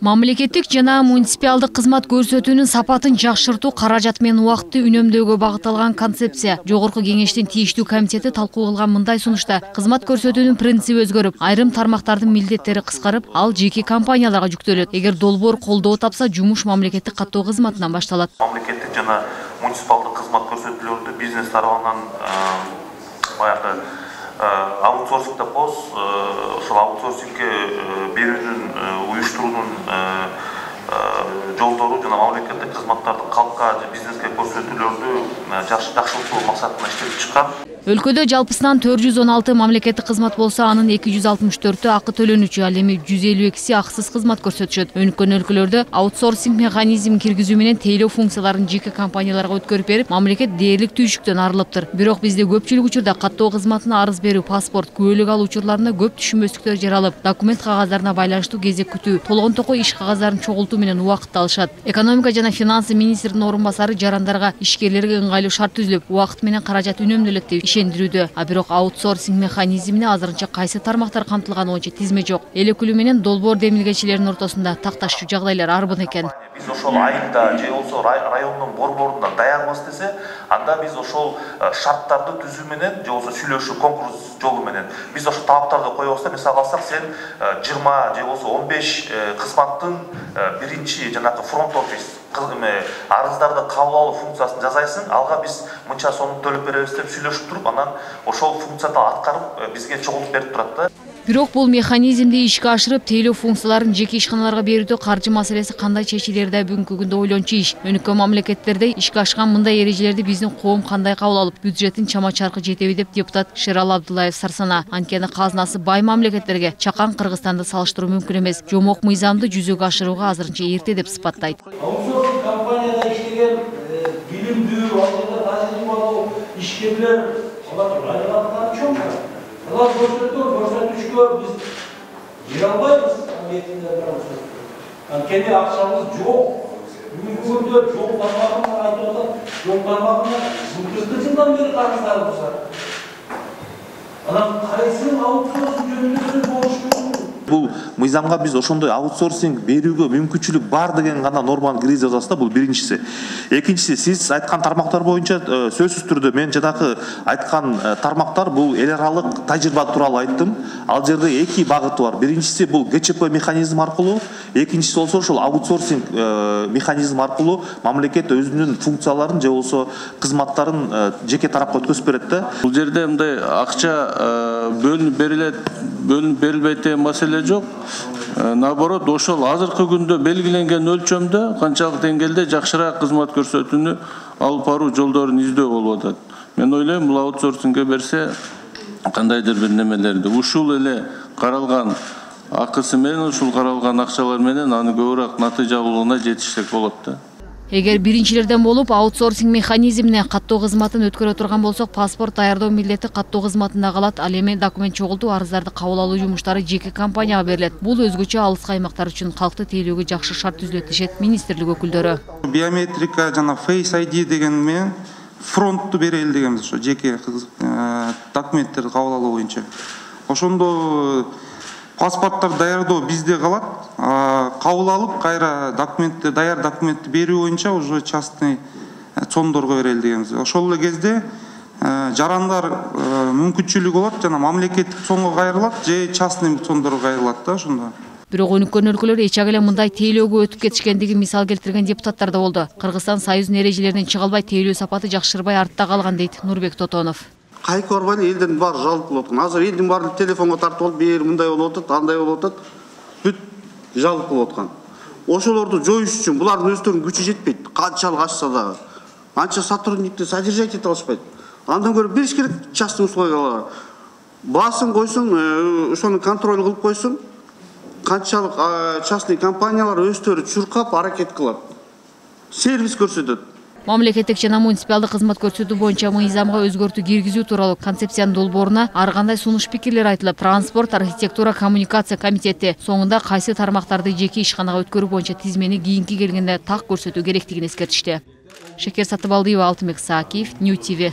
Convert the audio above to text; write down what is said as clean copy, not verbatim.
Мамлекеттик жана муниципалдык кызмат көрсөтүүнүн сапатын жакшыртуу, каражат менен убакытты үнөмдөөгө багытталган концепция. Жогорку кеңештин тийиштүү комитети талкуу кылган мындай сунушта кызмат көрсөтүүнүн принциби өзгөрүп, айрым тармактардын милдеттери кыскарып, ал жеке компанияларга жүктөлөт. Эгер долбоор колдоо тапса, жумуш мамлекеттик каттоо кызматынан башталат. Мамлекеттик жана муниципалдык кызмат көрсөтүүлөрдү бизнес тарабынан баягы аутсорсинг деп коебуз. Ошол аутсорсингге берүүнүн, уюштуруунун жолдору жана мамлекеттик кызматтарды калкка же бизнеске көрсөтүүлөрдү жакшыртуу максатында иштелип чыккан. Өлкөдө жалпысынан 416 мамлекеттик кызмат болсо, анын 264-ü акы төлөнүүчү, ал эми 152-си акысыз кызмат көрсөтүшөт. Өнүккөн өлкөлөрдө аутсорсинг механизмин киргизүү менен тейлөө функцияларын жеке компанияларга өткөрүп берип, мамлекет дээрлик түйшүктөн арылыптыр. Бирок бизде көпчүлүк учурда каттоо кызматына арыз берүү, паспорт, күбөлүк алуу учурларында көп түшүнбөстүктөр жаралып, документ кагаздарына байланыштуу кезек күтүү, толгон токой иш кагаздарын чогултуу менен убакытты алышат. Экономика жана финансы министринин орун басары жарандарга, ишкерлерге ыңгайлуу шарт түзүлүп, убакыт менен каражат үнөмдөлөт деп ишендирүүдө. А бирок аутсорсинг механизмине азырынча кайсы тармактар камтылганы боюнча тизме жок. Эл өкүлү менен долбоор демилгечилердин ортосунда такташчу жагдайлар арбын экен. Биз ошол айында же болсо райондун борборунда даярбыз десе, анда биз ошол шарттарды түзүү менен же болсо сүйлөшүү, конкурс жолу менен биз ошол талаптарды коебуз да, мисалы алсак, сен 20 же болсо 15 кызматтын биринчи жанагы фронт офис арыздарды кабыл алуу функциясын жасайсың, алга биз мынча сом төлөп беребиз деп сүйлөшүп туруп, анан ошол функцияны аткарып бизге чогултуп берип турат да. Бирок бул механизмди ишке ашырып, тейлөө функцияларын жеке ишканаларга берүүдө каржы маселеси кандай чечилери да бүгүнкү күндө ойлончу иш. Өнүккөн мамлекеттерде ишке ашкан мындай эрежелерди биздин коом кандай кабыл алып, бюджеттин чама-чаркы жетеби деп депутат Шерал Абдуллаев сарсана. Анткени казынасы бай мамлекеттерге чакан Кыргызстанды салыштыруу мүмкүн эмес. Жомок мыйзамды жүзөгө ашырууга азырынча эрте деп сыпаттайт. Аутсорсинг компанияда иштеген билимдүү, тажрыйбалуу ишкерлер алар чоң. Алар көрсөтүүчүгө биз бере албайбыз. Анткени акчабыз жок. Бүгүнкү күндө жол тармагын айтып атат, жол тармагына 40 жылдан бери карыздар болса. Анан кайсы аутсорсинг жөнүндө болуш мүмкүн? Бул мыйзамга биз ошондой аутсорсинг берүүгө мүмкүнчүлүк бар деген гана норманы киргизе алабыз да, бул биринчиси. Экинчиси, сиз айткан тармактар боюнча сөзсүз түрдө мен жанагы айткан тармактар бул эл аралык тажрыйба тууралуу айттым. Ал жерде эки багыты бар. Биринчиси бул ГЧП механизм аркылуу, экинчиси болсо ошол аутсорсинг механизм аркылуу мамлекет өзүнүн функцияларын же болсо кызматтарын жеке тарапка өткөзүп берет да. Бул жерде мындай акча бөлүнүп берилбейт деген маселе жок. Наоборот, ошол азыркы күндө белгиленген өлчөмдө канчалык деңгээлде жакшыраак кызмат көрсөтүүнү алып баруу жолдорун издөө болуп атат. Мен ойлойм, бул аутсорсингге берсе кандайдыр бир немелерди ушул эле каралган акысы менен, ушул каралган акчалар менен аны көбүрөөк натыйжалуулугуна жетишсек болот да. Эгер биринчилерден болуп аутсорсинг механизмине каттоо кызматын өткөрө турган болсок, паспорт даярдоо милдети каттоо кызматында калат. Ал эми документ чогултуу, арыздарды кабыл алуу жумуштары жеке компанияга берилет. Бул өзгөчө алыскы аймактар үчүн калкты тейлөөгө жакшы шарт түзүлөт дешет министрлик өкүлдөрү. Биометрика жана Face ID деген менен фронтту берели дегенбиз, ошо жеке документтерди кабыл алуу боюнча. Ошондо паспорттар даярдоо бизде калат, кабыл алып, кайра документти, даяр документти берүү боюнча уже частный цондорго берели дегенбиз. Ошол эле кезде жарандар мүмкүнчүлүгү болот, жана мамлекеттик цонго кайрылат же частный цондорго кайрылат да ошондо. Бирок өнүккөн өлкөлөр эч эле мындай тейлөөгө өтүп кетишкендиги мисал келтирген депутаттар да болду. Кыргызстан Союздун эрежелеринен чыга албай, тейлөө сапаты жакшырбай артта калган дейт Нурбек Тотонов. Кайкы барбай элдин баары жалып болуп аткан. Азыр элдин баары телефонго тартып алып, бир мындай болуп атат, андай болуп атат. Бүт жалып болуп аткан. Ошолорду жоюш үчүн булардын өздөрүнүн күчү жетпейт. Канчалык ачса дагы. Анча сотрудникти содержать эте алышпайт. Андан көрө бериш керек частный условияларга. Басын койсун, ошону контроль кылып койсун. Канчалык частный компаниялар өздөрү чуркап аракет кылат. Сервис көрсөтөт. Мамлекеттик жана муниципалдык кызмат көрсөтүү боюнча мыйзамга өзгөртүү киргизүү тууралуу концепциянын долбооруна ар кандай сунуш пикирлер айтылып, транспорт, архитектура, коммуникация комитети соңунда кайсы тармактарды жеке ишканага өткөрүү боюнча тизмени кийинки келгенде так көрсөтүү керектигин эскертишти. Шекер Сатыбалдиева, Алтынбек Саакиев, Нью ТВ.